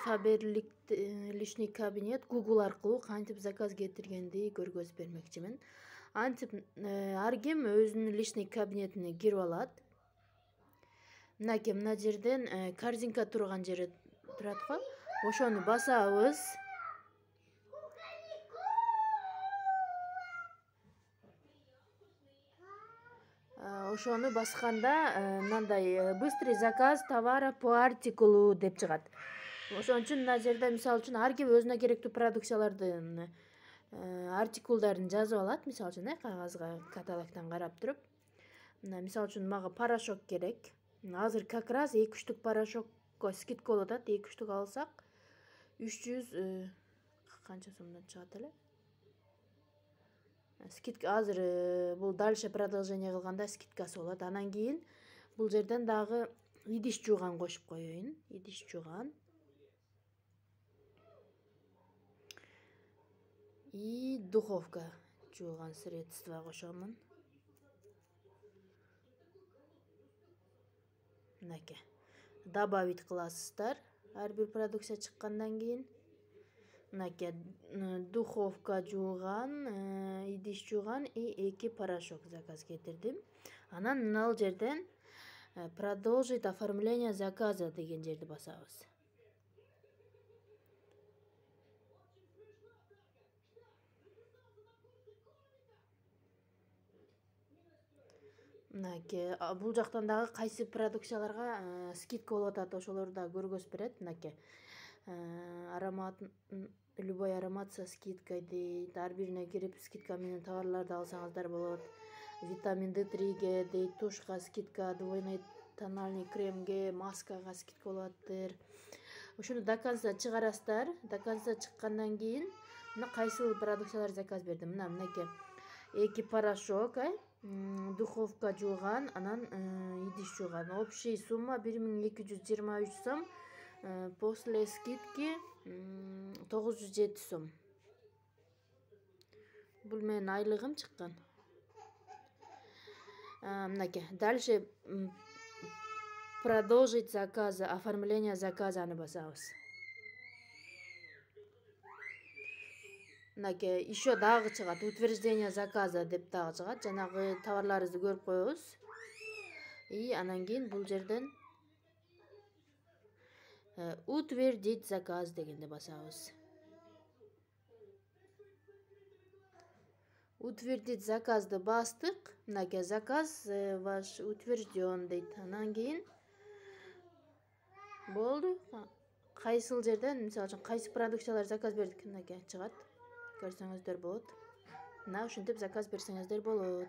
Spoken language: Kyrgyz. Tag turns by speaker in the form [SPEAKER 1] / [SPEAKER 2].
[SPEAKER 1] Faberlic личный кабинет Google аркылуу кантип заказ кетиргенди көргөзүп бермекчимин. Антип ар ким өзүнүн личный кабинетине кирип алат. Мынакей мына жерден корзинка турган жери турат го. Ошону басабыз. Ошону басканда мындай быстрый заказ товара по артикулу деп чыгат. Ошон үчүн мына жерде мисалы үчүн ар ким өзүнө керектүү продукциялардын артикулдарын жазып алат. Мисалы үчүн кагазга каталогдон карап туруп. Мына мисалы үчүн мага порошок керек. Азыр как раз 2 штук порошокко скидка болуп атат. 2 штук алсак 300 канча сомдон чыгат эле? Скидка азыр бул дальше продолжение кылганда скидкасы болот. Анан кийин бул жерден дагы идиш жууган кошуп коеюн. Идиш жууган. И духовка жууган средство кошомун. Мынакей. Добавить кыласыздар ар бир продукция чыккандан кийин. Мынакей духовка жууган, идиш жууган и 2 порошок заказ кетирдим. Анан мына жерден продолжить оформление заказа деген жерди басабыз. Мынакей бул жактан дагы кайсы продукцияларга скидка болуп атат, ошолорду да көргөзүп берет. Мынакей аромат, любой аромат со скидкой дейт. Ар бирине кирип скидка менен товарларды алсаңыздар болот. Витамин D3ге дейт, тушка скидка, двойной тональный кремге, маскага скидка болуп атыптыр. Ошону до конца чыгарасыздар. До конца чыккандан кийин мына кайсыл продукциялар заказ бердим. Мынакей 2 порошок, духовка жууган, анан идиш жууган. Общий сумма 1223 сом. После скидки 907 сом. Бул менин айлыгым чыккан. Мынакей. Дальше продолжить заказа, оформление заказаны басабыз. Мынакей еще дагы чыгат. Утверждение заказа деп дагы чыгат. Жанагы товарларыбызды көрүп коебуз. И анан кийин бул жерден утвердить заказ дегенди басабыз. Утвердить заказды бастык. Мынакей заказ ваш утвержден дейт. Анан кийин болду. Кайсыл жерден, мисалы үчүн кайсы продукциялар заказ бердик, мынакей чыгат. Көрсөңүздөр болот. Мына ушинтип заказ берсеңиздер болот.